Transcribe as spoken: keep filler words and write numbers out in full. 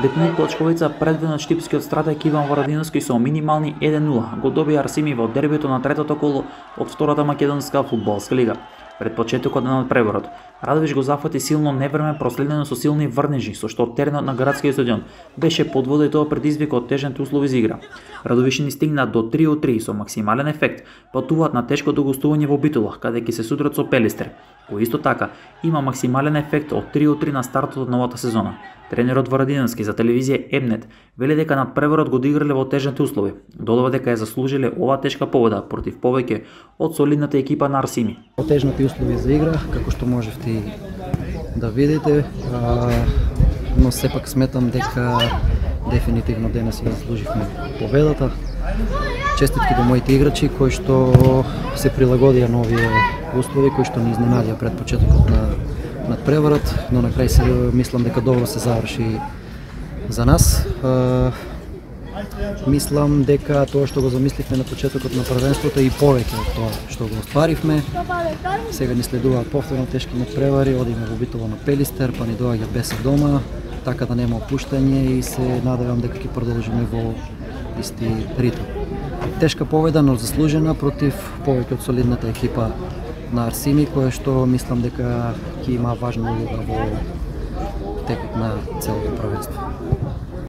Бетнук Плачковица предвидно штипскиот стратег Иван Варадиновски со минимални еден нула го доби Арсими во дербито на третото коло од втората македонска фудбалска лига. Пред почетокот на надпреварот, Радовиш го зафати силно невреме проследено со силни врнежи, со што теренот на градскиот стадион беше под вода и тоа предизвика од тежните услови за игра. Радовишани стигнаат до три од три со максимален ефект, патуваат на тешкото гостување во Битола, каде ќе се судрат со Пелистер, кој исто така има максимален ефект од три од три на стартот од новата сезона. Тренерот Варадиновски за телевизија Емнет вели дека надпреварот го одиграле во тежните услови. Додава дека ја заслужиле оваа тешка победа против повеќе од солидната екипа на Арсими. Тежните услови за игра, како што можевте да видите, но сепак сметам дека дефинитивно денес ја заслуживме победата. Честитки до моите играчи кои што се прилагодија на овие услови, кои што ни изненадија пред почетокот на надпреварот, но на крај се мислам дека добро се заврши за нас. Мислам дека тоа што го замисливме на почетокот на првенството и повеќе од тоа што го остваривме. Сега ни следуваат повторно тешки надпревари, одиме во Битола на Пелистер, па ни доаѓа Бесев дома, така да нема опуштање и се надевам дека ќе продолжиме во исти ритм. Тешка победа, но заслужена против повеќе од солидната екипа на Арсими, која што мислам дека ќе има важна улога во текот на целото првенство.